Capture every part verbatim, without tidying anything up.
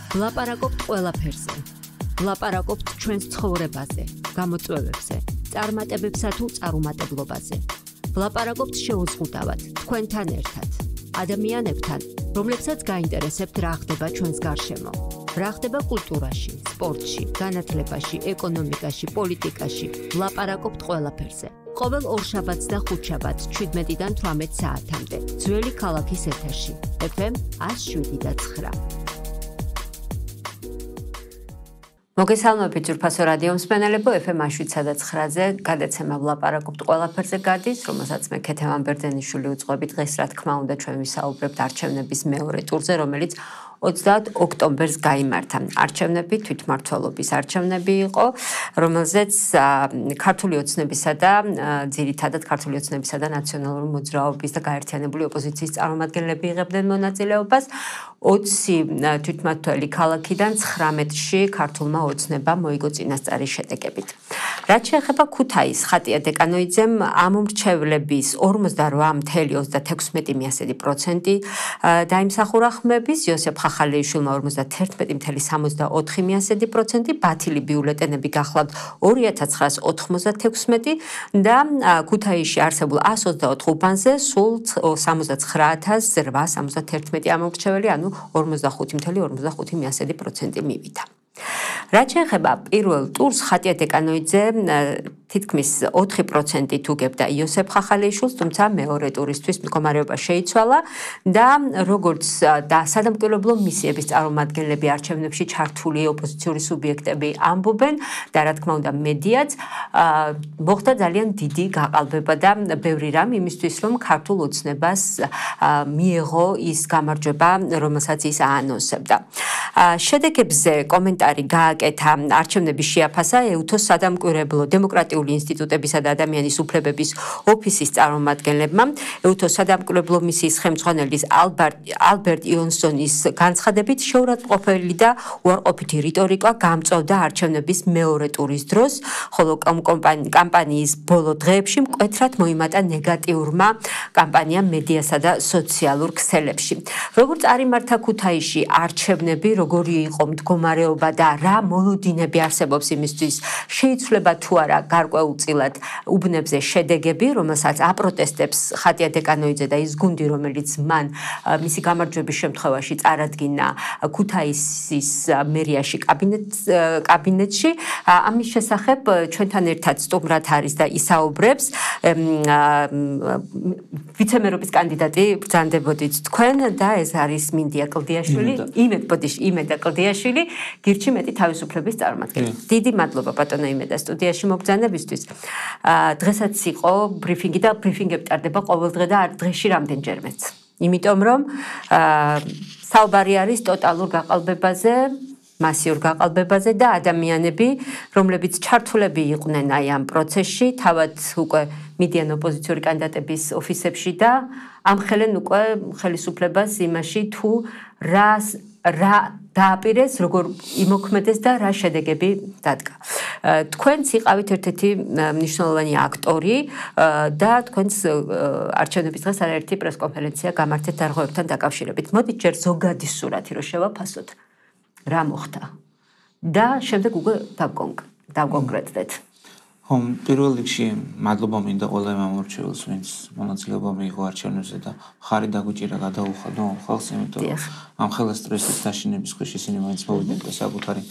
ვლაპარაკობთ ყველაფერზე. ვლაპარაკობთ ჩვენს ცხოვრებაზე, გამოწვევებზე, წარმატებებსა თუ წარუმატებლობაზე. ვლაპარაკობთ შეუზღუდავად, თქვენთან ერთად, ადამიანებთან, რომლებსაც გაინტერესებთ რა ხდება ჩვენს გარშემო. რა ხდება კულტურაში, სპორტში, განათლებაში, ეკონომიკაში, პოლიტიკაში. ვლაპარაკობთ ყველაფერზე. ყოველ ორშაბათს და ხუთშაბათს შვიდმეტიდან თვრამეტ საათამდე. ძველი ქალაქის ეთერში. ეფ ემ ათს შვიდი და ცხრა. მოგესალმებით ძვირფასო რადიო მსმენელებო, ეფ ემ ათს შვიდსა და ცხრაზე გადაცემა ვლაპარაკობთ ყველაფერზე გადის, რომელსაც მე ქეთევან ბერძენიშვილი უძღვები. დღეს რა თქმა უნდა ჩვენ ვისაუბრებთ არჩევნების მეორე ტურზე, რომელიც ოცდაათ ოქტომბერს გაიმართა. არჩევნები თვითმმართველობის არჩევნები იყო, რომელზეც ქართული ოცნებისა და ძირითადად ქართული ოცნებისა და ნაციონალური მოძრაობის და გაერთიანებული ოპოზიციის წარმომადგენლები იღებდნენ მონაწილეობას. ოცი თვითმმართველი ქალაქიდან ცხრამეტში ქართულმა ოცნებამ მოიგო წინასწარი შედეგებით. რაც შეეხება ქუთაისს, ხატია დეკანოიძემ ამ მრჩევლების ორმოცდარვა მცდარ ოცდათექვსმეტი პროცენტი დაიმსახურა ხმების, იოსებ ხახალეიშვილმა ორმოცდაათერთმეტი მცდარ სამოცდაოთხი პროცენტი, ბათილი ბიულეტენები გახლავთ ორი ათას ცხრაას ოთხმოცდათექვსმეტი და ქუთაისში არსებულ ას ოცდაოთხ უბანზე სულ სამოცდაცხრა ათას რვაას სამოცდათერთმეტი ამომრჩეველი, ანუ ორმოცდახუთი მცდარ ორმოცდახუთი პროცენტი მივიდა. რაც შეეხება პირველ ტურს, ხატია დეკანოიძე თითქმის ოთხი პროცენტით უგებდა იოსებ ხახალეიშვილს, თუმცა მეორე ტურისთვის მდგომარეობა შეიცვალა და როგორც და სადამკვირვებლო მისიების წარმომადგენლები არჩევნებში ჩართული ოპოზიციური სუბიექტები ამბობენ და რა თქმა უნდა მედიაც, მოხდა ძალიან დიდი გაყალბება და ბევრი რამ იმისთვის, რომ ქართულ ოცნებას მიეღო ის გამარჯვება, რომელსაც ის აანონსებდა. შედეგებზე კომენტარი გააკეთა არჩევნების შეაფასა ეუთოს სადამკვირვებლო დემოკრატიული ინსტიტუტებისა და ადამიანის უფლებების ოფისის წარმომადგენლებმა. ეუთოს სადამკვირვებლო მისიის ხელმძღვანელის ალბერტ იონსონის განცხადებით, შეურაცხმყოფელი და უარყოფითი რიტორიკა გამწვავდა არჩევნების მეორე ტურის დროს, ხოლო კამპანიის ბოლო დღეებში მკვეთრად მოიმატა ნეგატიურმა კამპანიამ მედიასა და სოციალურ ქსელებში. როგორც წარიმართა ქუთაისში არჩევნები, როგორი იყო მდგომარეობა და რა მოლოდინები არსებობს იმისთვის, შეიცვლება თუ არა გარკვეულწილად უბნებზე შედეგები, რომელსაც აპროტესტებს ხატია დეკანოიძე და ის გუნდი, რომელიც მან მისი გამარჯვების შემთხვევაში წარადგინა ქუთაისის მერიაში კაბინეტში. ამის შესახებ ჩვენთან ერთად სტუმრად არის და ისაუბრებს ვიცემერობის კანდიდატი ბრძანდებოდით თქვენ და ეს არის მინდია კლდიაშვილი, იმედ ბოდიში, იმედა კლდიაშვილი, გირჩი მეტი თავისუფლების წარმომადგენელი. დიდი მადლობა ბატონო იმედა სტუდიაში მობრძანებისთვის. დღესაც იყო ბრიფინგი და ბრიფინგები ტარდება ყოველდღე და დღეში რამდენჯერმეც. იმიტომ რომ საუბარი არის ტოტალურ გაყალბებაზე, მასიურ გაყალბებაზე და ადამიანები, რომლებიც ჩართულები იყვნენ აი ამ პროცესში, თავად უკვე მიდიან ოპოზიციური კანდიდატების ოფისებში და ამხელენ უკვე ხელისუფლებას იმაში თუ რას რა დააპირეს, როგორ იმოქმედეს და რა შედეგები დადგა. თქვენც იყავით ერთ-ერთი მნიშვნელოვანი აქტორი და თქვენც არჩევნების დღეს არაერთი პრესკონფერენცია გამართეთ დარღვევებთან დაკავშირებით. მოდით ჯერ ზოგადი სურათი რო შევაფასოთ, რა მოხდა და შემდეგ უკვე დავკონკრეტდეთ. ხომ, პირველ რიგში მადლობა მინდა ყველა მომრჩეველს, ვინც მონაწილეობა მიიღო არჩევნებზე და ხარი დაგვიჭირა გადაუხადო ამ ხალხს, იმიტომ რომ ამ ხელა სტრესის დაშინების ქვეშ ისინი მაინც მოვიდნენ და საკუთარი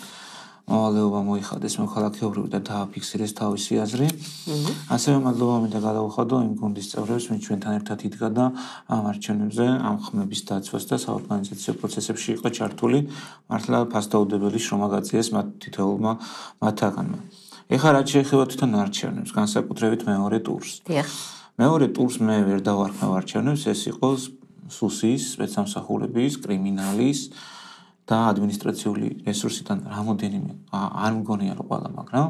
მოვალეობა მოიხადეს მოქალაქეობრივ და დააფიქსირეს თავისი აზრი. ასევე მადლობა მინდა გადაუხადო იმ გუნდის წევრებს, ვინც ჩვენთან ერთად იდგა და ამ არჩევნებზე ამ ხმების დაცვას და საორგანიზაციო პროცესებში იყო ჩართული. მართლა ფასდაუდებელი შრომა გაწიეს მათ თითოეულმა მათგანმა. ეხლა რაც შეეხება თვითონ არჩევნებს, განსაკუთრებით მეორე ტურს. მეორე ტურს მე ვერ დავარქმევ არჩევნებს, ეს იყო სუსის, სპეცსამსახურების, კრიმინალის და ადმინისტრაციული რესურსიდან რამოდენიმე, არ მგონია რომ ყველა, მაგრამ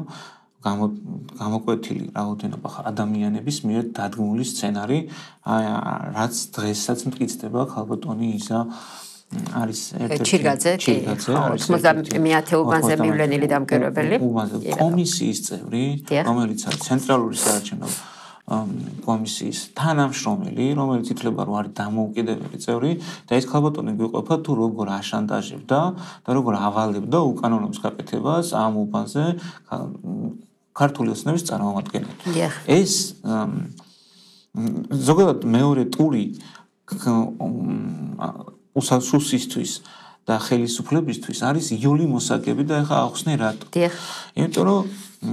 გამოკვეთილი რაოდენობა ადამიანების მიერ დადგმული სცენარი, რაც დღესაც მტკიცდება ხალბატონი ისა არის ერთ-ერთი ჩირგაძე, ოცდაათი უბანზე მივლენილი დამკვირვებელი, კომისიის წევრი, რომელიც არის ცენტრალური საარჩევნო კომისიის თანამშრომელი, რომელიც ითვლება რომ არის დამოუკიდებელი წევრი და ეს ქალბატონი გვიყოფა თუ როგორ აშანტაჟებდა და როგორ ავალებდა უკანონობის გაკეთებას ამ უბანზე ქართული ოცნების წარმომადგენლები. ეს ზოგადად მეორე ტური უსასუსისთვის და ხელისუფლებისთვის არის იული მოსაგები და ეხა ახსნე რატო. იმიტომ რომ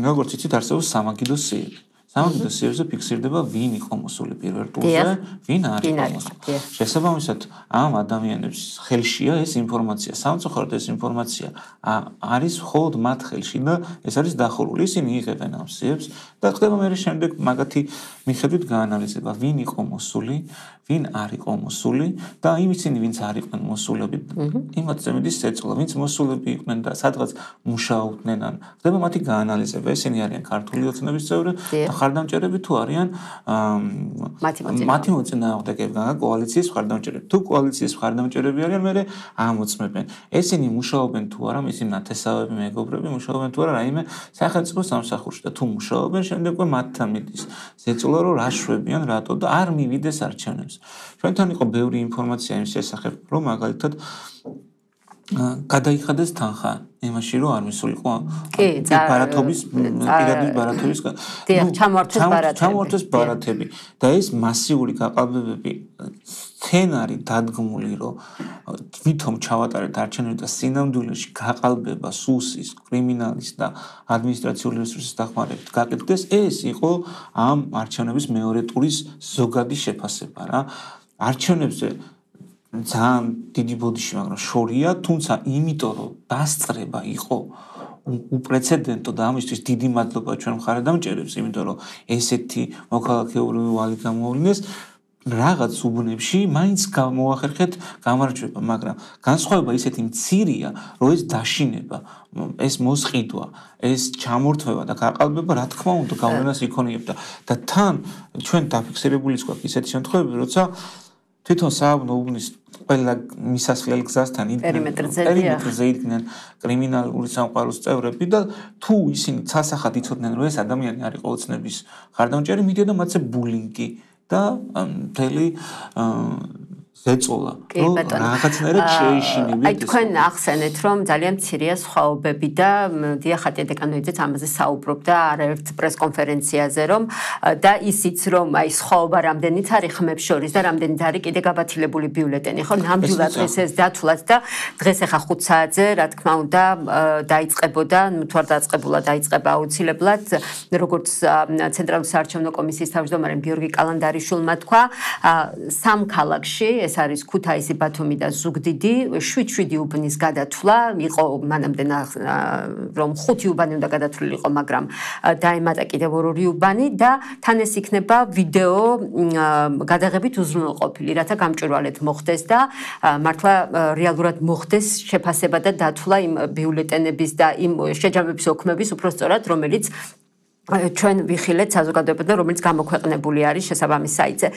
როგორც იცით არსებობს სამაგიდო სიები. სამაგიდო სიებზე ფიქსირდება ვინ იყო მოსული პირველ ტურზე, ვინ არ იყო მოსული. შესაბამისად ამ ადამიანების ხელშია ეს ინფორმაცია. სამწუხაროდ ეს ინფორმაცია არის მხოლოდ მათ ხელში და ეს არის დახურული. ისინი იღებენ ამ სიებს და ხდება მე შემდეგ მაგათი მიხედვით გაანალიზება ვინ იყო მოსული, ვინ არ იყო მოსული და იმ ისინი ვინც არ იყვნენ მოსულები იმათ ზემედის ეწოლა ვინც მოსულები იყვნენ და სადღაც მუშაობდნენ ან ხდება მათი გაანალიზება ისინი არიან ქართული ოცნების წევრები და ხარდამჭერები თუ არიან მათი მოწინააღმდეგეები კოალიციის ხარდამჭერები თუ კოალიციის ხარდამჭერები არიან მე ამოწმებენ ესენი მუშაობენ თუ არა ისინი ნათესავები მეგობრები მუშაობენ თუ არა რაიმე სახელმწიფო სამსახურში და თუ მუშაობენ შემდეგ მათთან მიდის ზეწოლა რომ რა შვებიან რატო და არ მივიდეს არჩევნებს ჩვენთან იყო ბევრი ინფორმაცია იმ შესახებ რომ მაგალითად გადაიხადეს თანხა იმაში რომ არ მისულიყო ბარათობის პირადი ბარათების ჩამოართვეს ბარათები და ეს მასიური გაყალბებები სცენარი დადგმული რომ თვითონ ჩავატარეთ არჩევნები და სინამდვილეში გაყალბება სუსის კრიმინალის და ადმინისტრაციული რესურსის დახმარებით გაკეთდეს ეს იყო ამ არჩევნების მეორე ტურის ზოგადი შეფასება რა არჩევნებზე ძალიან დიდი ბოდიში მაგრამ შორია თუმცა იმიტომ რომ დასწრება იყო უპრეცედენტო და ამისთვის დიდი მადლობა ჩვენ მხარდამჭერებს იმიტომ რომ ესეთი მოქალაქეობრივი ვალი გამოავლინეს რაღაც უბნებში მაინც გამოახერხეთ გამარჯვება მაგრამ განსხვავება ისეთი მცირეა რომ ეს დაშინება ეს მოსყიდვა ეს ჩამორთმევა და გაყალბება რა თქმა უნდა გავლენას იქონიებდა და თან ჩვენ დაფიქსირებული გვაქვს ისეთი შემთხვევები როცა თვითონ სააბნო უბნის ყველა მისასვლელ გზასთან პერიმეტრზე იდგნენ კრიმინალური სამყაროს წევრები და თუ ისინი ცალსახად იცოდნენ რომ ეს ადამიანი არ იყო ოცნების ხარდამჭერი მიდიოდა მათზე ბულინგი და მთელი ზეწოლა რომ რაღაცნაირად შეეშინებიათ აი თქვენ ახსენეთ რომ ძალიან მცირეა სხვაობები და დიახატია დეკანოიძეც ამაზე საუბრობდა არაერთ პრესკონფერენციაზე რომ და ისიც რომ აი სხვაობა რამდენიც არის ხმებს შორის და რამდენიც არის კიდე გაბათილებული ბიულეტენი ხო ნამდვილად დღეს ეს დათვლათ და დღეს ახლა ხუთ საათზე რა თქმა უნდა დაიწყებოდა თუ არ დაწყებულა დაიწყება აუცილებლად როგორც ცენტრალური საარჩევნო კომისიის თავმჯდომარემ გიორგი კალანდარიშვილმა თქვა სამ ქალაქში ეს არის ქუთაისი, ბათუმი და ზუგდიდი, შვიდ-შვიდი უბნის გადათვლა, იყო მანამდე რომ ხუთი უბანი უნდა გადათვლილიყო, მაგრამ დაემატა კიდევ ორი უბანი და თან ეს იქნება ვიდეო გადაღებით უზრუნველყოფილი, რათა გამჭვირვალედ მოხდეს და მართლა რეალურად მოხდეს შეფასება და დათვლა იმ ბიულეტენების და იმ შეჯამების ოქმების უпростоრად, რომელიც ჩვენ ვიხილეთ საზოგადოებასთან, რომელიც გამოქვეყნებული არის შესაბამის საიტზე.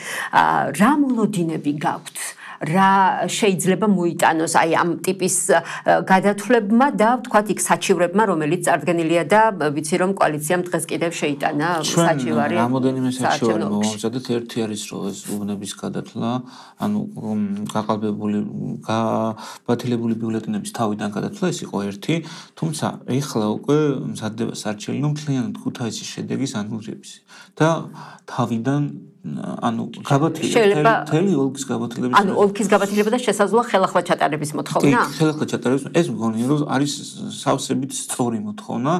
რა მოლოდინები გაქვთ? რა შეიძლება მოიტანოს აი ამ ტიპის გადათვლებმა და ვთქვათ იქ საჩივრებმა, რომელიც წარდგენილია და ვიცი რომ კოალიციამ დღეს კიდევ შეიტანა საჩივარი. ჩვენ რამოდენიმე საჩივარი მოვამზადეთ, ერთი არის რომ ეს უბნების გადათვლა, ანუ გაყალბებული, გაბათილებული ბიულეტენების თავიდან გადათვლა ეს იყო ერთი, თუმცა ეხლა უკვე მზადდება სარჩელი რომ მთლიანად ქუთაისის შედეგის ანულირების და თავიდან ანუ გაბათილება თელი ოლქის გაბათილების ანუ ოლქის გაბათილება და შესაძლოა ხელახლა ჩატარების მოთხოვნა? კი, ხელახლა ჩატარების ეს მგონია რომ არის სავსებით სწორი მოთხოვნა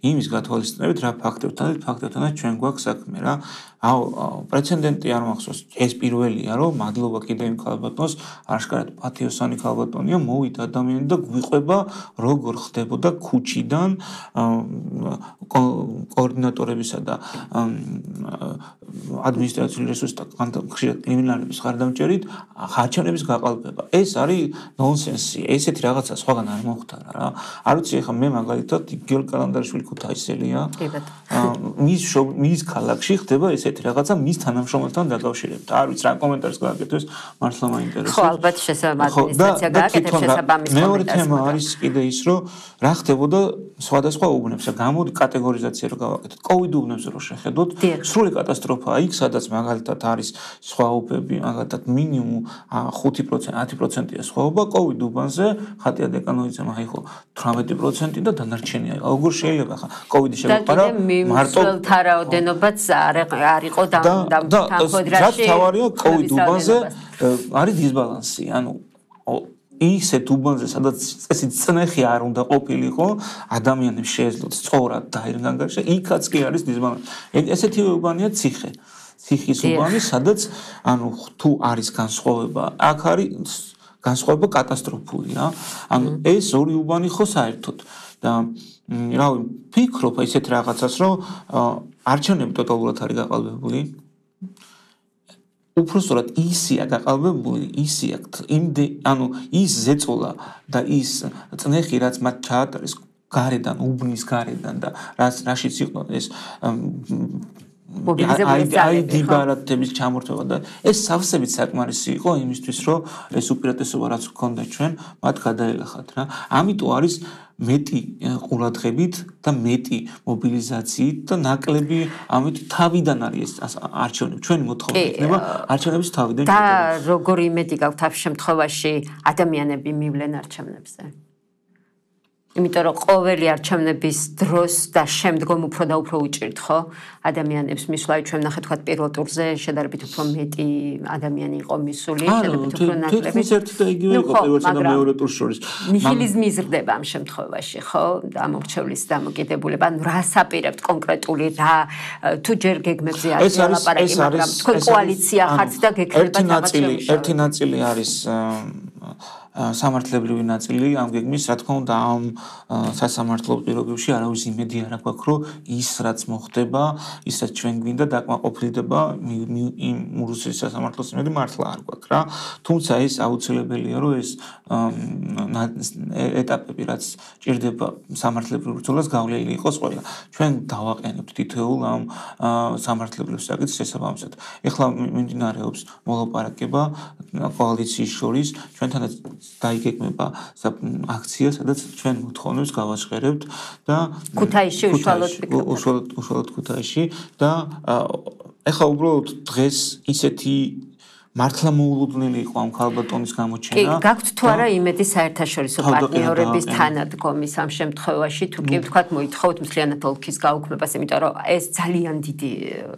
იმის გათვალისწინებით რა ფაქტებთანაც ფაქტებთანაც ჩვენ გვაქვს საქმე რა აუ პრეცედენტი არ მახსოვს ეს პირველია რომ მადლობა კიდევ იმ ქალბატონს აღშკარად პათიოსანი ქალბატონია მოვიდა ადამიანი და გვიყვება როგორ ხდებოდა ქუჩიდან კოორდინატორებისა და ადმინისტრაციული რესურსთა ხშირად კრიმინალების ხარდამჭერით არჩევნების გაყალბება ეს არის ნონსენსი ესეთი რაღაცა სხვაგან არ მოხდარა რა არ ვიცი ეხლა მე მაგალითად გიორგი კალანდარიშვილი ქუთაისელია მის მის ქალაქში ხდება ეს ისეთი რაღაცა მის თანამშრომელთან დაკავშირებით. არ ვიცი რა კომენტარს გააკეთოს, მართლა მაინტერესებს. ხო, ალბათ შესაძლოა ადმინისტრაცია გააკეთებს შესაბამის კომენტარს. მეორე თემა არის კიდე ის, რომ რა ხდებოდა სხვადასხვა უბნებს. გამოდი კატეგორიზაცია რო გავაკეთოთ. COVID უბნებს რო შეხედოთ, სრული კატასტროფაა იქ, სადაც მაგალითად არის სხვაობები, მაგალითად მინიმუმ ხუთი პროცენტი, ათი პროცენტია სხვაობა, COVID უბანზე ხატია დეკანოიძემ აიღო თვრამეტი პროცენტი და დანარჩენია. როგორ შეიძლება ხა COVID-ი შეგვეყარა მარტო თარაოდენობაც არ არ იყო დამთანხმებაში. რა თავარია COVID უბანზე არის დისბალანსი, ანუ ისეთ უბანზე, სადაც წესით წნეხი არ უნდა ყოფილიყო, ადამიანებს შეეძლოთ სწორად დაირგანგარიშა, იქაც კი არის დისბალანსი. ესეთი უბანია ციხე. ციხის უბანი, სადაც ანუ თუ არის განსხვავება, აქ არის განსხვავება კატასტროფული რა. ანუ ეს ორი უბანი ხო საერთოდ და რავი, ფიქრობ ისეთ რაღაცას, რომ არჩევნები ტოტალურად არის გაყალბებული. უпростоრად ისია გაყალბებული, ისია იმდე, ანუ ის ზეწოლა და ის წნეხი, რაც მათ ჩაატარეს გარედან, უბნის გარედან და რაც რაშიც იყო ეს აიდი ბარათების ჩამორთმევა და ეს სავსებით საკმარისი იყო იმისთვის, რომ ეს უპირატესობა რაც გქონდა ჩვენ, მათ გადაელახათ რა. ამიტომ არის მეტი ყურადღებით და მეტი მობილიზაციით და ნაკლები ამით თავიდან არის ეს არჩევნები. ჩვენი მოთხოვნა იქნება არჩევნების თავიდან. და როგორი იმედი გაქვთ ამ შემთხვევაში ადამიანები მივლენ არჩევნებზე? იმიტომ რომ ყოველი არჩევნების დროს და შემდგომ უფრო და უფრო უჭირთ ხო ადამიანებს მისვლა. ჩვენ ნახეთ თქვა პირველ ტურზე შედარებით უფრო მეტი ადამიანი იყო მისული, შედარებით უფრო ნაკლები. ეს ერთი და იგივე იყო პირველსა და მეორე ტურს შორის. ნიჰილიზმი იზრდება ამ შემთხვევაში, ხო? ამორჩევლის დამოკიდებულება, ანუ რას აპირებთ კონკრეტული რა თუ ჯერ გეგმებზე არის ლაპარაკი, მაგრამ თქვენ კოალიცია ხართ და გეკრებათ რაღაც შემთხვევაში. ერთი ნაწილი არის სამართლებრივი ნაწილი ამ გეგმის, რა თქმა უნდა, ამ სასამართლო პირობებში არავის იმედი არ აქვს, რომ ის რაც მოხდება, ისაც ჩვენ გვინდა დაკმაყოფილდება იმ რუსეთის სასამართლოს იმედი მართლა არ გვაქვს რა. თუმცა ეს აუცილებელია, რომ ეს ეტაპები, რაც ჭირდება სამართლებრივ ბრძოლას, გავლილი იყოს ყველა. ჩვენ დავაყენებთ თითოეულ ამ სამართლებრივ საკითხს შესაბამისად. ეხლა მიმდინარეობს მოლაპარაკება კოალიციის შორის, ჩვენთანაც დაიგეგმება აქცია, სადაც ჩვენ მოთხოვნებს გავაჟღერებთ და ქუთაისში უშუალოდ უშუალოდ უშუალოდ ქუთაისში და ეხლა უბრალოდ დღეს ისეთი მართლა მოულოდნელი იყო ამ ქალბატონის გამოჩენა. კი, გაქვთ თუ არა იმედი საერთაშორისო პარტნიორების თანადგომის ამ შემთხვევაში, თუ კი ვთქვათ მოითხოვთ მთლიანად ოლქის გაუქმებას, იმიტომ რომ ეს ძალიან დიდი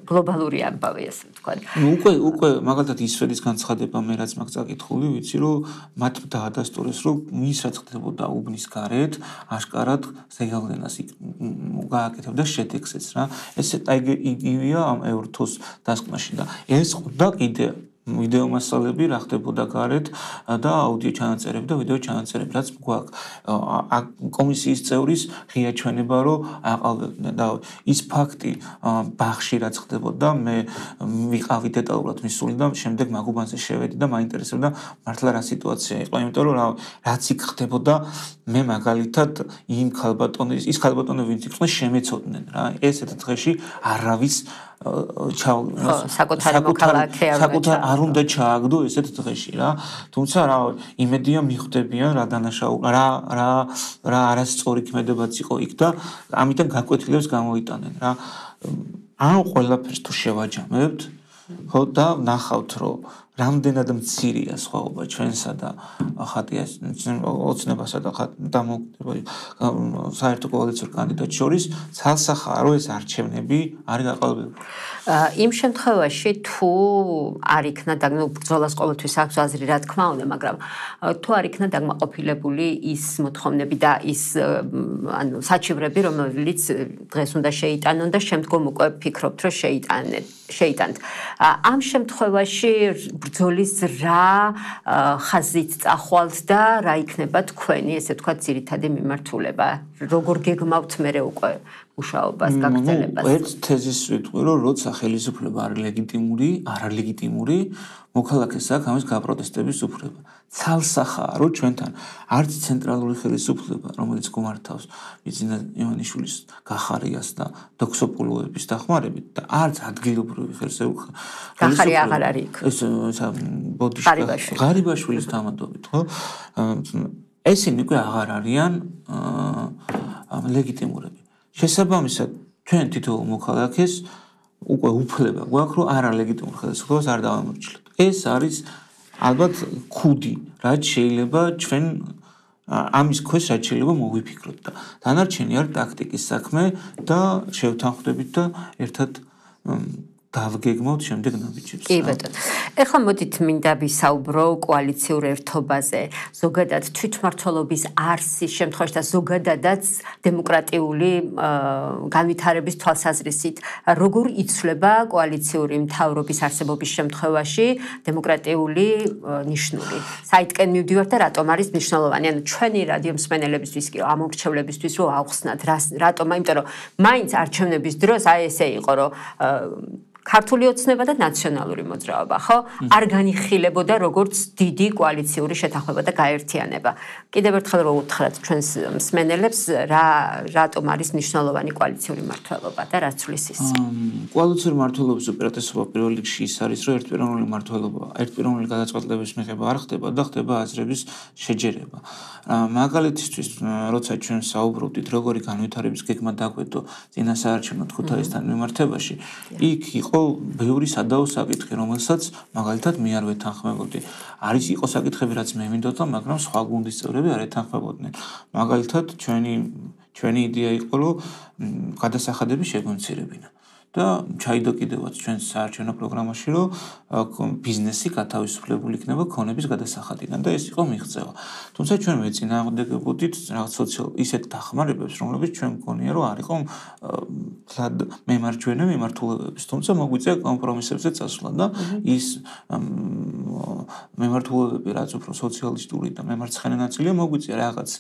გლობალური ამბავია, ასე ვთქვათ. უკვე უკვე მაგალითად ისრედის განცხადება მე რაც მაგ წაკითხული, ვიცი რომ მათ დაადასტურეს, რომ ის რაც ხდებოდა უბნის გარეთ, აშკარად ზეგავლენას გააკეთებდა შედეგსაც რა. ეს იგივეა ამ ევროთოს დასკვნაში და ეს და კიდე ვიდეო მასალები რა ხდებოდა გარეთ და აუდიო ჩანაწერები და ვიდეო ჩანაწერები რაც გვაქვს კომისიის წევრის ღია ჩვენება რომ აყალბებდნენ და ის ფაქტი ბაღში რაც ხდებოდა მე ვიყავი დეტალურად მისული და შემდეგ მაგუბანზე შევედი და მაინტერესებდა მართლა რა სიტუაცია იყო იმიტომ რომ რაც იქ ხდებოდა მე მაგალითად იმ ქალბატონის ის ქალბატონები ვინც იყვნენ შემეცოდნენ რა ესეთ დღეში არავის საკუთარი მოქალაქე არ უნდა ჩააგდო ესეთ დღეში რა თუმცა რა იმედია მიხვდებიან რა დანაშაული რა რა რა არასწორი ქმედებაც იყო იქ და ამიტომ გაკვეთილებს გამოიტანენ რა ან ყველაფერს თუ შევაჯამებთ ხო და ნახავთ რომ რამდენად მცირეა სხვაობა ჩვენსა და ხატიას ოცნებასა და დამოუკიდებელ საერთო კოალიციურ კანდიდატს შორის ცალსახაა რომ ეს არჩევნები არის გაყალბებული. იმ შემთხვევაში თუ არ იქნა და ნუ ბრძოლას ყოველთვის აქვს აზრი რა თქმა უნდა, მაგრამ თუ არ იქნა დაკმაყოფილებული ის მოთხოვნები და ის ანუ საჩივრები, რომელიც დღეს უნდა შეიტანონ და შემდგომ უკვე ფიქრობთ რომ შეიტანეთ შეიტანთ. ამ შემთხვევაში ბრძოლის რა ხაზით წახვალთ და რა იქნება თქვენი, ესე ვთქვათ, ძირითადი მიმართულება? როგორ გეგმავთ მერე უკვე მუშაობას, გაგრძელებას. ერთ თეზის ვიტყვი, რომ როცა ხელისუფლება არის ლეგიტიმური, არალეგიტიმური, მოქალაქეს აქვს ამის გაპროტესტების უფლება. ცალსახაა, რომ ჩვენთან არც ცენტრალური ხელისუფლება, რომელიც გუმართავს ბიძინა ივანიშვილის გახარიას და დოქსოპულოების დახმარებით და არც ადგილობრივი ხელისუფლება. გახარი აღარ არის იქ. ეს ბოდიშკა ღარიბაშვილის თამადობით, ხო? ესენი უკვე აღარ არიან ლეგიტიმურები. შესაბამისად, ჩვენ თითოეულ მოქალაქეს უკვე უფლება გვაქვს, რომ არალეგიტიმურ ხელისუფლებას არ დავამორჩილოთ. ეს არის ალბათ ქუდი, რაც შეიძლება ჩვენ ამის ქვეშ რაც შეიძლება მოვიფიქროთ და დანარჩენი არის ტაქტიკის საქმე და შევთანხმდებით და ერთად დავგეგმოთ შემდეგ ნაბიჯებს. კი ბატონო. ეხლა მოდით მინდა ვისაუბრო კოალიციურ ერთობაზე. ზოგადად თვითმმართველობის არსის შემთხვევაში და ზოგადადაც დემოკრატიული განვითარების თვალსაზრისით, როგორ იცვლება კოალიციური მთავრობის არსებობის შემთხვევაში დემოკრატიული ნიშნული? საითკენ მივდივართ და რატომ არის მნიშვნელოვანი? ანუ ჩვენი რადიო მსმენელებისთვის კი ამორჩევლებისთვის რომ ავხსნათ, რატომ? იმიტომ რომ მაინც არჩევნების დროს აი ესე იყო, რომ ქართული ოცნება და ნაციონალური მოძრაობა, ხო? არ განიხილებოდა როგორც დიდი კოალიციური შეთანხმება და გაერთიანება. კიდევ ერთხელ რომ უთხრათ ჩვენს მსმენელებს, რა რატომ არის მნიშვნელოვანი კოალიციური მმართველობა და რა ცვლის ის? კოალიციური მმართველობის უპირატესობა პირველ რიგში ის არის, რომ ერთპიროვნული მმართველობა, ერთპიროვნული გადაწყვეტილების მიღება არ ხდება და ხდება აზრების შეჯერება. მაგალითისთვის, როცა ჩვენ საუბრობდით, როგორი განვითარების გეგმა დაგვედო წინა საარჩევნო ქუთაისთან მიმართებაში, იქ იყო ბევრი სადაო საკითხი, რომელსაც მაგალითად მე არ ვეთანხმებოდი. არის იყო საკითხები, რაც მე მინდოდა, მაგრამ სხვა გუნდის წევრები არ ეთანხმებოდნენ. მაგალითად, ჩვენი ჩვენი იდეა იყო, რომ გადასახადები შეგონცირებინა. და ჩაიდო კიდევაც ჩვენს საარჩევნო პროგრამაში, რომ ბიზნესი გათავისუფლებული იქნება ქონების გადასახადიდან და ეს იყო მიღწევა. თუმცა ჩვენ მეწინააღმდეგებოდით რაღაც სოციალ ისეთ დახმარებებს, რომლებიც ჩვენ მგონია, რომ არ იყო თლად მემარჯვენე მიმართულებების, თუმცა მოგვიწია კომპრომისებზე წასვლა და ის მემართულებები, რაც უფრო სოციალისტური და მემარცხენე ნაწილია, მოგვიწია რაღაც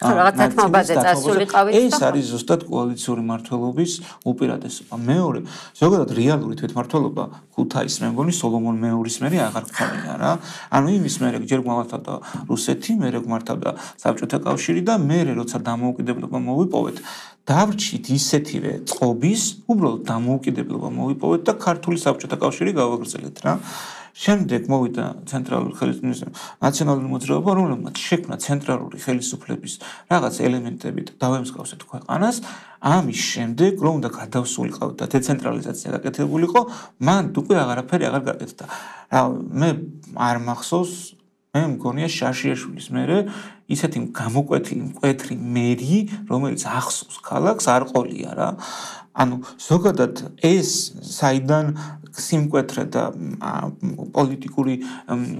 რაღაც თათმობაზე წასულიყავით და ეს არის ზუსტად კოალიციური მმართველობის უპირატესობა. მეორე ზოგადად რეალური თვითმმართველობა ქუთაის მე მგონი სოლომონ მეორის მერე აღარ გქონია რა. ანუ იმის მერე ჯერ გვმართავდა რუსეთი, მერე გვმართავდა საბჭოთა კავშირი და მერე როცა დამოუკიდებლობა მოვიპოვეთ, დავრჩით ისეთივე წყობის, უბრალოდ დამოუკიდებლობა მოვიპოვეთ და ქართული საბჭოთა კავშირი გავაგრძელეთ რა. შემდეგ მოვიდა ცენტრალური ხელისუფლების ნაციონალური მოძრაობა, რომელმაც შექმნა ცენტრალური ხელისუფლების რაღაც ელემენტები და დავემსგავსეთ ქვეყანას. ამის შემდეგ რომ უნდა გადავსულიყავ და დეცენტრალიზაცია გაკეთებულიყო, მან უკვე აღარაფერი აღარ გაკეთდა. რა მე არ მახსოვს, მე მგონია შაშიაშვილის მერე ისეთი გამოკვეთილი მკვეთრი მერი, რომელიც ახსოვს ქალაქს არ ყოლია რა. ანუ ზოგადად ეს საიდან სიმკვეთრე და პოლიტიკური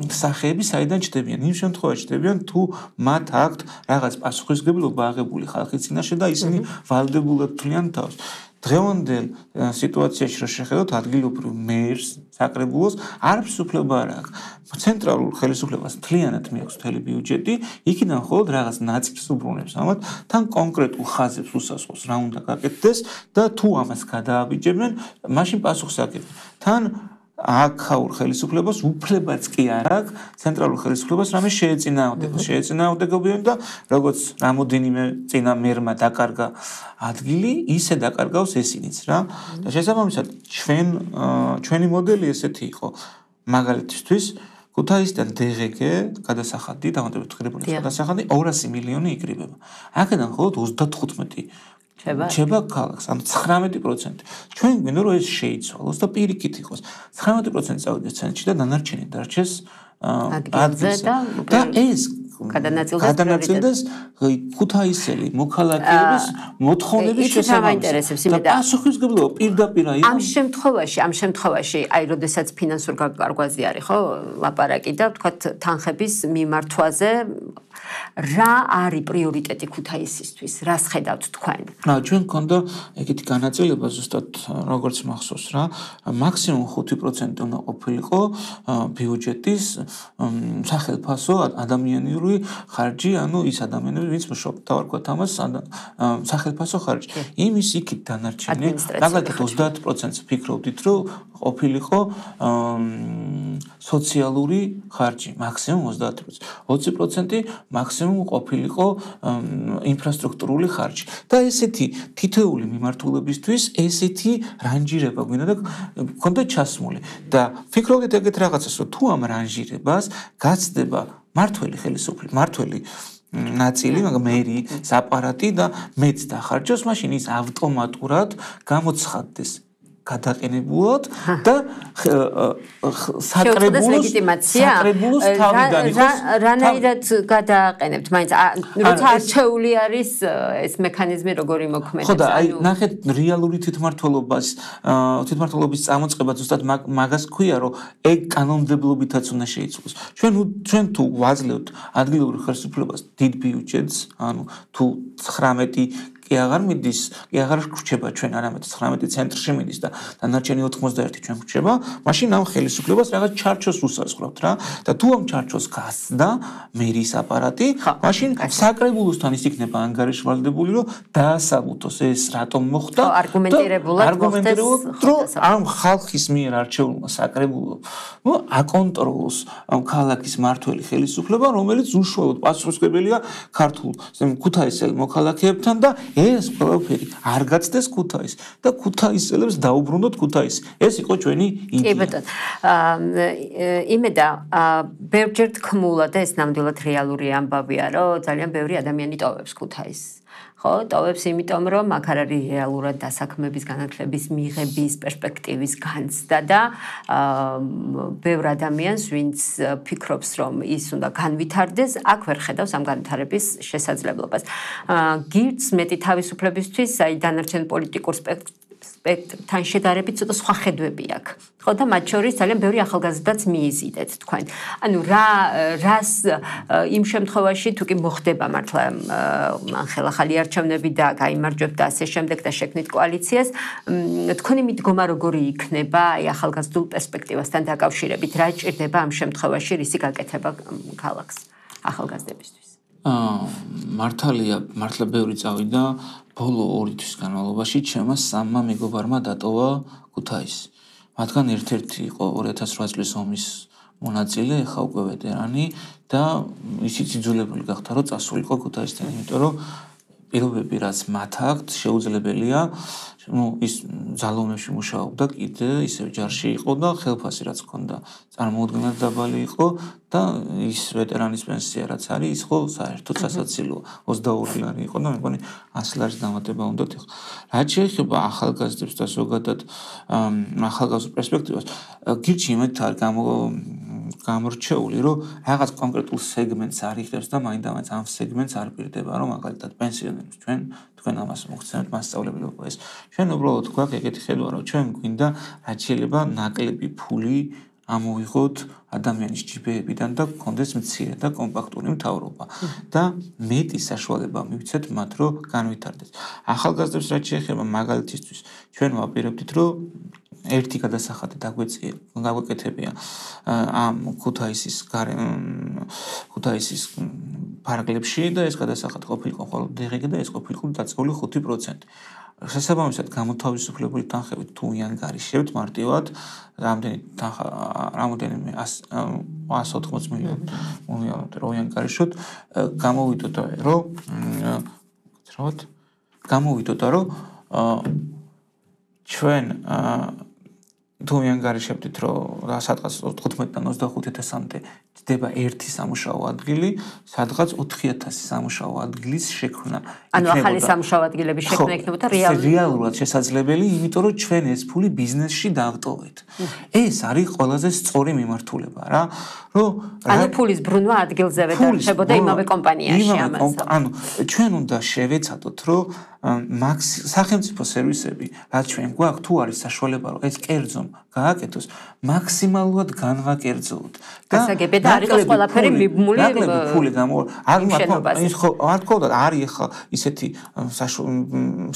სახეები საიდან ჩდებიან? იმ შემთხვევაში ჩდებიან, თუ მათ აქვთ რაღაც პასუხისმგებლობა აღებული ხალხის წინაშე და ისინი ვალდებულად თვლიან თავს. დღევანდელ სიტუაციაში რო შეხედოთ ადგილობრივ მერს, საკრებულოს არც უფლება არ აქვს. ცენტრალურ ხელისუფლებას მთლიანად მიაქვს მთელი ბიუჯეტი, იქიდან მხოლოდ რაღაც ნაწილს უბრუნებს ამათ, თან კონკრეტულ ხაზებს უსასყოს რა უნდა გაკეთდეს და თუ ამას გადააბიჯებენ, მაშინ პასუხს აკეთებენ. თან აქაურ ხელისუფლებას უფლებაც კი არ აქვს ცენტრალურ ხელისუფლებას რამე შეეწინააღმდეგოს. შეეწინააღმდეგებიან და როგორც რამოდენიმე წინა მერმა დაკარგა ადგილი, ისე დაკარგავს ესინიც რა. და შესაბამისად ჩვენ ჩვენი მოდელი ესეთი იყო. მაგალითისთვის ქუთაისიდან დღგ გადასახადი, დამატებით ღირებული გადასახადი ორასი მილიონი იკრიბება. აქედან მხოლოდ ოცდათხუთმეტი ჩება ქალაქს, ანუ ცხრამეტი პროცენტი. ჩვენ გვინდა რომ ეს შეიცვალოს და პირიქით იყოს. ცხრამეტი პროცენტი წავიდეს ცენტრში და დანარჩენი დარჩეს ადგილზე და ეს გადანაწილდეს ქუთაისელი მოქალაქეების მოთხოვნების შესაბამისად. და პასუხისმგებლობა პირდაპირ იყო. ამ შემთხვევაში, ამ შემთხვევაში, აი, როდესაც ფინანსურ გარკვევაზე არის, ხო, ლაპარაკი და ვთქვათ თანხების მიმართვაზე რა არის პრიორიტეტი ქუთაისისთვის? რას ხედავთ თქვენ? რა, ჩვენ გქონდა ეგეთი განაწილება ზუსტად როგორც მახსოვს რა, მაქსიმუმ ხუთი პროცენტი უნდა ყოფილიყო ბიუჯეტის სახელმწიფო ადამიანური ხარჯი, ანუ ის ადამიანები, ვინც მუშაობ, დავარქვათ ამას სახელმწიფო ხარჯი. იმის იქით დანარჩენი, მაგალითად ოცდაათ პროცენტს ფიქრობდით, რომ ყოფილიყო სოციალური ხარჯი, მაქსიმუმ ოცდაათ პროცენტი. ოცი პროცენტი მაქსიმუმ ყოფილიყო ინფრასტრუქტურული ხარჯი. და ესეთი თითოეული მიმართულებისთვის ესეთი რანჟირება გვინდა და გქონდა ჩასმული. და ფიქრობდით ეგეთ რაღაცას, რომ თუ ამ რანჟირებას გაცდება მართველი ხელისუფლება, მართველი ნაწილი, მაგრამ მერი, აპარატი და მეც დახარჯოს, მაშინ ის ავტომატურად გამოცხადდეს გადაყენებულად და საკრებულოს საკრებულოს თავიდან იყოს რანაირად გადააყენებთ მაინც როცა არჩეული არის ეს მექანიზმი როგორი მოქმედებს. ხო და აი ნახეთ რეალური თვითმმართველობის თვითმმართველობის წამოწყება ზუსტად მაგას ქვია, რომ ეგ კანონმდებლობითაც უნდა შეიცვალოს. ჩვენ ჩვენ თუ ვაძლევთ ადგილობრივ ხელისუფლებას დიდ ბიუჯეტს, ანუ თუ ცხრამეტი კი აღარ მიდის, კი აღარ ხრჩება ჩვენ არამედ ცხრამეტი ცენტრში მიდის და დანარჩენი ოთხმოცდაერთი ჩვენ ხრჩება, მაშინ ამ ხელისუფლებას რაღაც ჩარჩოს უსაზღვრავთ რა და თუ ამ ჩარჩოს გასცდა მერის აპარატი, მაშინ საკრებულოსთან ის იქნება ანგარიშვალდებული, რომ დაასაბუთოს ეს რატომ მოხდა და არგუმენტირებულად არგუმენტირებულად რომ ამ ხალხის მიერ არჩეულმა საკრებულომ ნუ აკონტროლოს ამ ქალაქის მართველი ხელისუფლება, რომელიც უშუალოდ პასუხისმგებელია ქართულ ქუთაისელ მოქალაქეებთან და ეს ყველაფერი არ გაცდეს ქუთაის და ქუთაისელებს დაუბრუნდოთ ქუთაისი. ეს იყო ჩვენი იდეა. კი ბატონო. იმედა ბევრჯერ თქმულა და ეს ნამდვილად რეალური ამბავია, რომ ძალიან ბევრი ადამიანი ტოვებს ქუთაისს. ხო, ტოვებს იმიტომ, რომ აქ არ არის რეალურად დასაქმების განათლების მიღების პერსპექტივის განცდა და ბევრ ადამიანს, ვინც ფიქრობს, რომ ის უნდა განვითარდეს, აქ ვერ ხედავს ამ განვითარების შესაძლებლობას. გირდს მეტი თავისუფლებისთვის, აი დანარჩენ პოლიტიკურ სპექტრთან შედარებით ცოტა სხვა ხედვები აქვს. ხო და მათ შორის ძალიან ბევრი ახალგაზრდაც მიიზიდეთ თქვენ. ანუ რა რას იმ შემთხვევაში თუ კი მოხდება მართლა ახლა ახალი არჩევნები და გაიმარჯვებთ და ასე შემდეგ და შექმნით კოალიციას, თქვენი მიდგომა როგორი იქნება აი ახალგაზრდულ პერსპექტივასთან დაკავშირებით? რა ჭირდება ამ შემთხვევაში რისი გაკეთება ქალაქს ახალგაზრდებისთვის? აა მართალია, მართლა ბევრი წავიდა ბოლო ორი თვის განმავლობაში ჩემმა სამმა მეგობარმა დატოვა ქუთაისი. მათგან ერთ-ერთი იყო ორი ათას ოთხ წლის ომის მონაწილე, ახლა უკვე ვეტერანი და ისიც იძულებული გახდა, რომ წასულიყო ქუთაისთან, იმიტომ რომ პირობები რაც მათ აქვთ შეუძლებელია, ну ის ძალოვნებში მუშაობდა კიდე ისევ ჯარში იყო და ხელფასი რაც ჰქონდა წარმოუდგენლად დაბალი იყო და ის ვეტერანის პენსია რაც არის ის ხო საერთოდ სასაცილოა ოცდაორი ლარი იყო და მე მგონი ასი ლარის დამატება უნდათ ახლა. რაც შეეხება ახალგაზრდებს და ზოგადად ახალგაზრდა პერსპექტივას, გირჩი იმით არ გამო გამორჩეული, რომ რაღაც კონკრეტულ სეგმენტს არიხებს და მაინდამაინც ამ სეგმენტს არ პირდება, რომ მაგალითად პენსიონერებს ჩვენ თქვენ ამას მოგცემთ მასწავლებლობა ეს. ჩვენ უბრალოდ გვაქვს ეგეთი ხედვა, რომ ჩვენ გვინდა რაც შეიძლება ნაკლები ფული ამოვიღოთ ადამიანის ჯიბეებიდან და გქონდეს მცირე და კომპაქტური მთავრობა და მეტი საშუალება მივცეთ მათ, რომ განვითარდეს. ახალგაზრდებს რაც შეეხება მაგალითისთვის, ჩვენ ვაპირებდით, რომ ერთი გადასახადი დაგვეწია, დაგვეკეთებია ამ ქუთაისის ქუთაისის ფარგლებში და ეს გადასახადი ყოფილიყო მხოლოდ დღე და ეს ყოფილიყო დაწეული ხუთი პროცენტი. შესაბამისად გამოთავისუფლებული თანხებით თუ იანგარიშებთ მარტივად რამდენი თანხა რამოდენიმე ას ოთხმოცი მილიონი მოვიაროთ რომ იანგარიშოთ გამოვიდოთ რომ გძრავთ გამოვიდოთ რომ ჩვენ თუ იანგარიშებთ რომ სადღაც თხუთმეტიდან ოცდახუთ ათასამდე ჯდება ერთი სამუშაო ადგილი, სადღაც ოთხი ათასი სამუშაო ადგილის შექმნა. ანუ ახალი სამუშაო ადგილების შექმნა იქნებოდა რეალურად რეალურად შესაძლებელი, იმიტომ რომ ჩვენ ეს ფული ბიზნესში დავტოვეთ. ეს არის ყველაზე სწორი მიმართულება რა, რომ ანუ ფულის ბრუნვა ადგილზევე დარჩებოდა იმავე კომპანიაში ამას. ანუ ჩვენ უნდა შევეცადოთ, რომ სახელმწიფო სერვისები, რაც ჩვენ გვაქვს, თუ არის საშუალება, რომ ეს კერძომ გააკეთოს, მაქსიმალურად განვაკერძოთ. გასაგებია და არ იყოს ყველაფერი მიბმული ნაკლები ფული გამო არ ის ხო არ თქო და არის ახლა ისეთი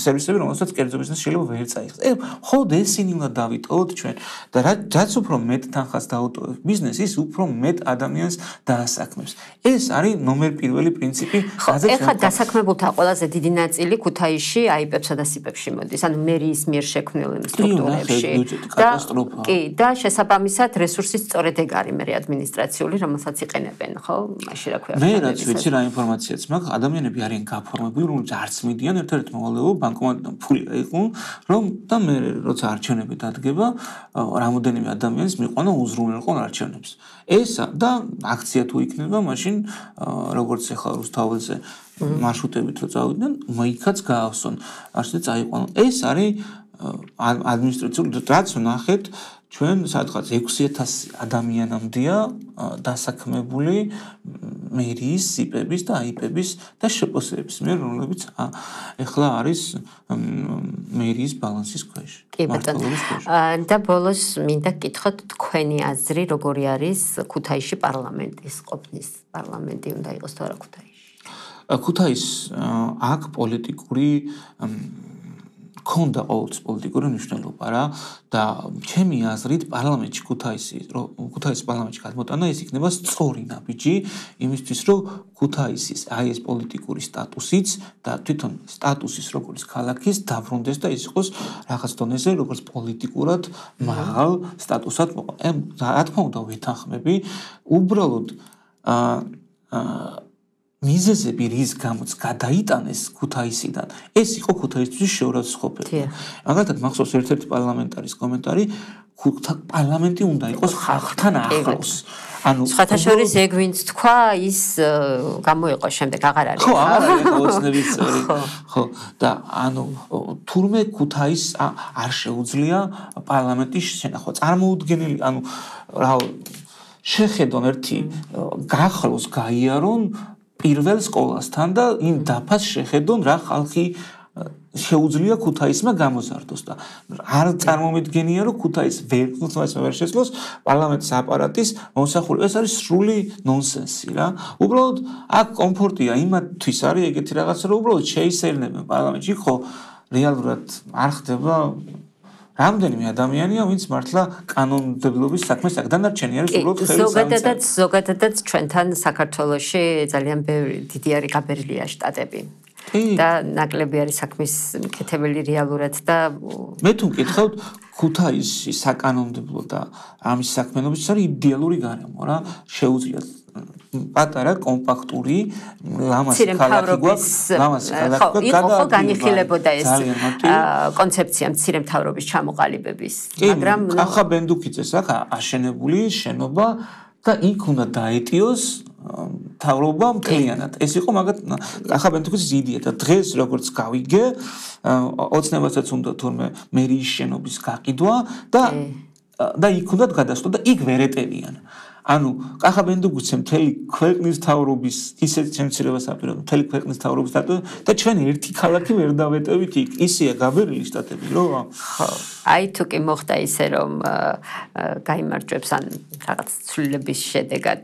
სერვისები, რომელსაც კერძობისას შეიძლება ვერ წაიღოს. ე ხოდ ესენი უნდა დავიტოვოთ ჩვენ და რაც უფრო მეტ თანხას დაუტოვებს ბიზნესი, ის უფრო მეტ ადამიანს დაასაქმებს. ეს არის ნომერ პირველი პრინციპი, რაზეც ეხლა დასაქმებულთა ყველაზე დიდი ნაწილი ქუთაისში აიპებსა და სიპებში მოდის, ანუ მერიის მიერ შექმნილ სტრუქტურებში. კატასტროფა. კი, და შესაბამისად რესურსის სწორედ ეგ არის მე ადმინისტრაციული, რომელსაც იყენებენ, ხო? მაშინ რა ქვია. მე რაც ვიცი რა ინფორმაციაც მაქვს, ადამიანები არიან გაფორმებული, რომ არც მიდიან ერთ-ერთ მოვალეო ბანკომატიდან ფული აიყო, რომ და მე როცა არჩევნები დადგება, რამოდენიმე ადამიანს მიყვანა უზრუნველყო არჩევნებს. ესა და აქცია თუ იქნება, მაშინ როგორც ახლა რუსთაველზე მარშრუტებით რო წავიდნენ, მოიქაც გაავსონ. ასე წაიყვანონ. ეს არის ადმინისტრაციული რაც ნახეთ ჩვენ სადღაც ექვსი ათასი ადამიანამდეა დასაქმებული მერიის სიპების და აიპების და შეპოსების მიერ, რომლებიც ეხლა არის მერიის ბალანსის ქვეშ. კი ბატონო. და ბოლოს მინდა გკითხოთ თქვენი აზრი, როგორი არის ქუთაისში პარლამენტის ყოფნის პარლამენტი უნდა იყოს თუ არა ქუთაისში? ქუთაის აქ პოლიტიკური ქონდა ყოველთვის პოლიტიკური მნიშვნელობა რა და ჩემი აზრით პარლამენტში ქუთაისი ქუთაისის პარლამენტში გადმოტანა ეს იქნება სწორი ნაბიჯი იმისთვის რომ ქუთაისის აი ეს პოლიტიკური სტატუსიც და თვითონ სტატუსის როგორც ქალაქის დაბრუნდეს და ის იყოს რაღაც დონეზე როგორც პოლიტიკურად მაღალ სტატუსად რა თქმა უნდა ვეთანხმები უბრალოდ აა მიზეზები რის გამოც გადაიტანეს ქუთაისიდან ეს იყო ქუთაისთვის შეურაცხყოფელი. მაგალითად მახსოვს ერთ-ერთი პარლამენტარის კომენტარი პარლამენტი უნდა იყოს ხალხთან ახლოს. ანუ სხვათა შორის ეგ ვინც თქვა ის გამოიყო შემდეგ აღარ არის. ხო, აღარ არის ოცნების წევრი. ხო, და ანუ თურმე ქუთაის არ შეუძლია პარლამენტის შენახვა. წარმოუდგენელი, ანუ რა შეხედონ ერთი გახლოს გაიარონ პირველ სკოლასთან და იმ დაფას შეხედონ რა ხალხი შეუძლია ქუთაისმა გამოზარდოს და არ წარმომიდგენია რომ ქუთაის ვერცხლს ვერ შესძლოს პარლამენტის აპარატის მომსახურება ეს არის სრული ნონსენსი რა უბრალოდ აქ კომფორტია იმათთვის არის ეგეთი რაღაცა რომ უბრალოდ შეისერნებენ პარლამენტში ხო რეალურად არ ხდება რამდენიმე ადამიანია ვინც მართლა კანონმდებლობის საქმეს აქ დანარჩენი არის უბრალოდ ხელის ზოგადადაც ზოგადადაც ჩვენთან საქართველოში ძალიან ბევრი დიდი არის გაბერილია შტატები და ნაკლები არის საქმის მკეთებელი რეალურად და მე თუ მკითხავთ ქუთაისში საკანონმდებლო და ამის საქმიანობის არის idеალური გარემო რა შეუძლიათ პატარა კომპაქტური ლამაზი ქალაქი გვაქვს ლამაზი ქალაქი გვაქვს ხო განიხილებოდა ეს კონცეფცია მცირე მთავრობის ჩამოყალიბების მაგრამ ახა ბენდუქიძეს აქ აშენებული შენობა და იქ უნდა დაეტიოს მთავრობა მთლიანად ეს იყო მაგათ ახა ბენდუქიძის იდეა და დღეს როგორც გავიგე ოცნებასაც უნდა თორმე მერიის შენობის გაყიდვა და და იქ უნდა გადასვლა და იქ ვერ ეტევიან ანუ კახა ბენდუქიცე მთელი ქვეყნის მთავრობის ისეთ შემცირებას აპირებდა მთელი ქვეყნის მთავრობის და ჩვენ ერთი ქალაქი ვერ დავეტევით იქ ისეა გაბერილი შტატები რო ხო აი თუ კი მოხდა ისე რომ გაიმარჯვებს ან რაღაც ცვლილების შედეგად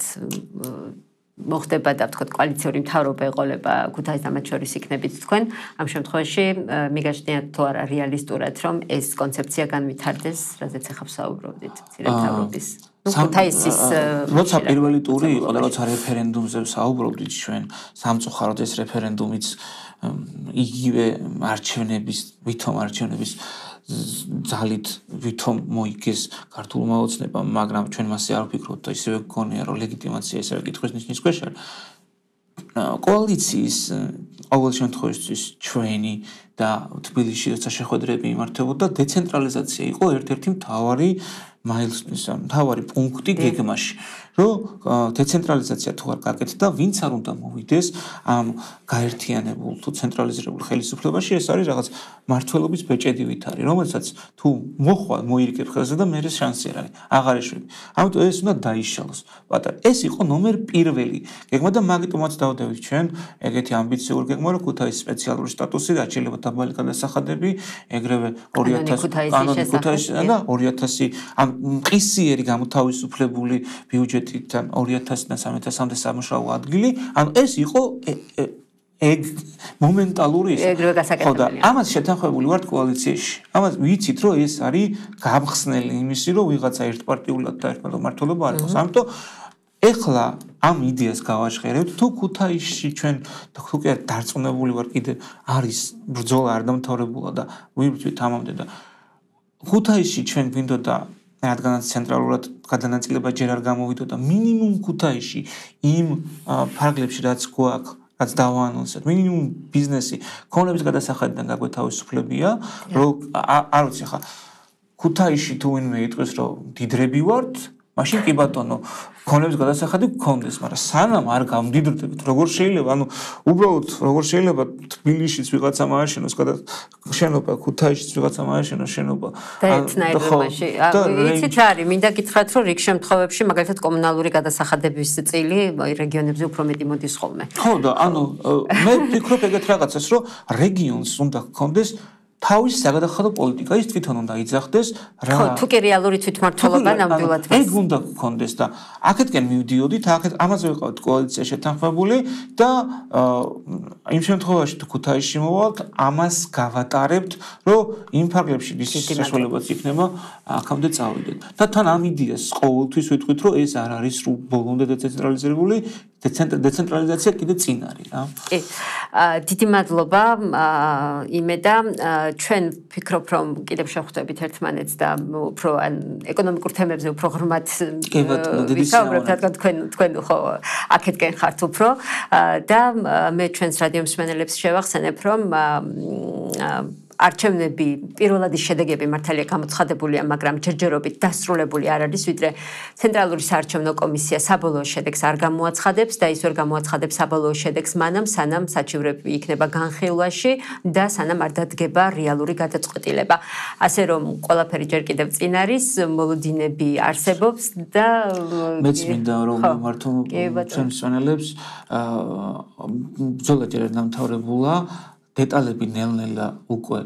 მოხდება და ვთქვათ კოალიციური მთავრობა ეყოლება ქუთაისს და მათ შორის იქნებით თქვენ ამ შემთხვევაში მიგაჩნიათ თუ არა რეალისტურად რომ ეს კონცეფცია განვითარდეს რაზეც ახლა ვსაუბრობდით მცირე მთავრობის ქუთაისის როცა პირველი ტური იყო და როცა რეფერენდუმზე ვსაუბრობდით ჩვენ სამწუხაროდ ეს რეფერენდუმიც იგივე არჩევნების ვითომ არჩევნების ძალით ვითომ მოიგეს ქართულმა ოცნებამ მაგრამ ჩვენ მასე არ ვფიქრობთ და ისევე გქონია რომ ლეგიტიმაცია ისევე კითხვის ნიშნის ქვეშ არის კოალიციის ყოველ შემთხვევაში ჩვენი და თბილისში როცა შეხვედრები იმართებოდა დეცენტრალიზაცია იყო ერთ-ერთი მთავარი მაილსტონის მთავარი პუნქტი გეგმაში, რომ დეცენტრალიზაცია თუ არ გაკეთდა, ვინც არ უნდა მოვიდეს ამ გაერთიანებულ თუ ცენტრალიზირებულ ხელისუფლებაში, ეს არის რაღაც მართლობის ბეჭედილით არის, რომელსაც თუ მოხვალ მოირიგებ ხელზე და მე შანსი არ არის, აღარ ეშვები. ამიტომ ეს უნდა დაიშალოს. პატარა, ეს იყო ნომერ პირველი გეგმა და მაგიტომაც დავდევით ჩვენ ეგეთი ამბიციური გეგმა, რომ ქუთაისის სპეციალური სტატუსი, დაჩილება დაბალი გადასახადები, ეგრევე ორი ათასი კანონი ქუთაისიდან და ორი ათასი ამ მყისიერი გამოთავისუფლებული ბიუჯეტიდან ორი ათასიდან სამი ათასამდე სამუშაო ადგილი, ანუ ეს იყო ეგ მომენტალური ის. ეგრევე გასაკეთებელი. ამას შეთანხმებული ვართ კოალიციაში. ამას ვიცით, რომ ეს არის გამხსნელი იმისი, რომ ვიღაცა ერთპარტიულად და ერთპარტიული მმართველობა არ იყოს. ამიტომ ეხლა ამ იდეას გავაჟღერებთ, თუ ქუთაისში ჩვენ თუ კი არ დარწმუნებული ვარ კიდე არის ბრძოლა არ დამთავრებულა და ვიბრძვით ამამდე და ქუთაისში ჩვენ გვინდოდა რადგანაც ცენტრალურად გადანაწილება ჯერ არ გამოვიდოდა მინიმუმ ქუთაისში იმ ფარგლებში რაც გვაქვს რაც დავაანონსეთ მინიმუმ ბიზნესი ქონების გადასახადიდან გაგვეთავისუფლებია რომ არ ვიცი ხა ქუთაისში თუ ვინმე იტყვის რომ დიდრები ვართ მაშინ კი ბატონო ქონების გადასახადი გქონდეს მაგრამ სანამ არ გამდიდრდებით როგორ შეიძლება ანუ უბრალოდ როგორ შეიძლება თბილისშიც ვიღაცა მააშენოს შენობა ქუთაისშიც ვიღაცა მააშენოს შენობა და ერთნაირობაში იცით არის მინდა გითხრათ რომ რიგ შემთხვევებში მაგალითად კომუნალური გადასახადების წილი რეგიონებზე უფრო მეტი მოდის ხოლმე ხო და ანუ მე ვფიქრობ ეგეთ რაღაცას რომ რეგიონს უნდა გქონდეს თავის საგადახადო პოლიტიკა ის თვითონ უნდა იძახდეს რა ხო თუ კი რეალური თვითმმართველობა ნამდვილად ეგ უნდა გქონდეს და აქეთკენ მივდიოდით აქეთ ამაზე ვიყავთ კოალიცია შეთანხმებული და იმ შემთხვევაში თუ ქუთაისში მოვალთ ამას გავატარებთ რომ იმ ფარგლებში ვის საშუალებაც იქნება აქამდე წავიდეთ და თან ამ იდეას ყოველთვის ვიტყვით რომ ეს არ არის ბოლომდე დეცენტრალიზებული დეცენტრალიზაცია კიდე წინ არის რა კი დიდი მადლობა იმედა ჩვენ ვფიქრობ რომ კიდევ შევხვდებით ერთმანეთს და უფრო ან ეკონომიკურ თემებზე უფრო ღრმად ვისაუბრებთ რადგან თქვენ თქვენ ხო აქეთკენ ხართ უფრო და მე ჩვენს რადიო მსმენელებს შევახსენებ რომ არჩევნები პირველად ის შედეგები მართალია გამოცხადებულია, მაგრამ ჯერჯერობით დასრულებული არ არის, ვიდრე ცენტრალური საარჩევნო კომისია საბოლოო შედეგს არ გამოაცხადებს და ის ვერ გამოაცხადებს საბოლოო შედეგს მანამ, სანამ საჩივრები იქნება განხილვაში და სანამ არ დადგება რეალური გადაწყვეტილება. ასე რომ ყველაფერი ჯერ კიდევ წინ არის, მოლოდინები არსებობს და მეც მინდა რომ მართო ჩვენს მსმენელებს ბრძოლა ჯერ არ დამთავრებულა დეტალები ნელ-ნელა უკვე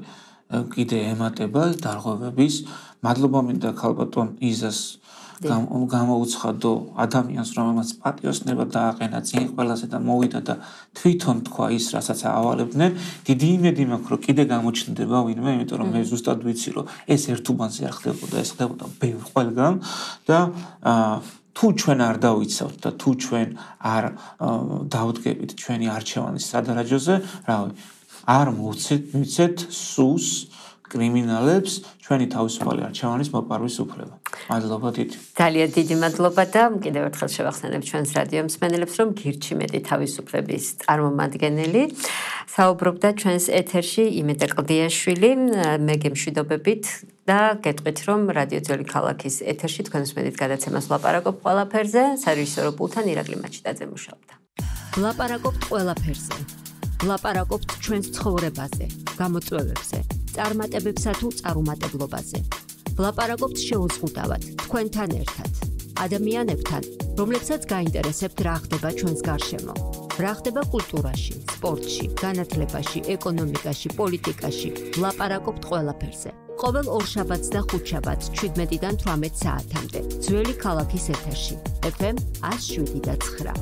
კიდე ემატება დარღვევების. მადლობა მინდა ქალბატონ იზას გამოუცხადო ადამიანს, რომელმაც პატიოსნება დააყენა წინ ყველაზე და მოვიდა და თვითონ თქვა ის, რასაც ავალებდნენ. დიდი იმედი მაქვს, რომ კიდე გამოჩნდება ვინმე, იმიტომ რომ მე ზუსტად ვიცი, რომ ეს ერთ უბანზე არ ხდებოდა, ეს ხდებოდა ბევრ ყველგან და თუ ჩვენ არ დავიცავთ და თუ ჩვენ არ დავდგებით ჩვენი არჩევანის სადარაჯოზე, რავი არ მოვცეთ სუს კრიმინალებს ჩვენი თავისუფალი არჩევანის მოპარვის უფლება. მადლობა დიდი. ძალიან დიდი მადლობა და კიდევ ერთხელ შევახსენებ ჩვენს რადიო მსმენელებს რომ გირჩი მეტი თავისუფლების წარმომადგენელი საუბრობდა ჩვენს ეთერში იმედა კლდიაშვილი მე გემშვიდობებით და გეტყვით რომ რადიო ძველი ქალაქის ეთერში თქვენ მსმენით გადაცემას ვლაპარაკობ ყველაფერზე სარეჟისორო პულტთან ირაკლი მაჩიტაძე მუშაობდა. ვლაპარაკობთ ყველაფერზე. ვლაპარაკობთ ჩვენს ცხოვრებაზე, გამოწვევებზე, წარმატებებსა თუ წარუმატებლობაზე. ვლაპარაკობთ შეუზღუდავად, თქვენთან ერთად, ადამიანებთან, რომლებსაც გაინტერესებთ რა ხდება ჩვენს გარშემო. რა ხდება კულტურაში, სპორტში, განათლებაში, ეკონომიკაში, პოლიტიკაში. ვლაპარაკობთ ყველაფერზე. ყოველ ორშაბათს და ხუთშაბათს შვიდმეტიდან თვრამეტ საათამდე. ძველი ქალაქის ეთერში. ეფ ემ ათს შვიდი და ცხრა.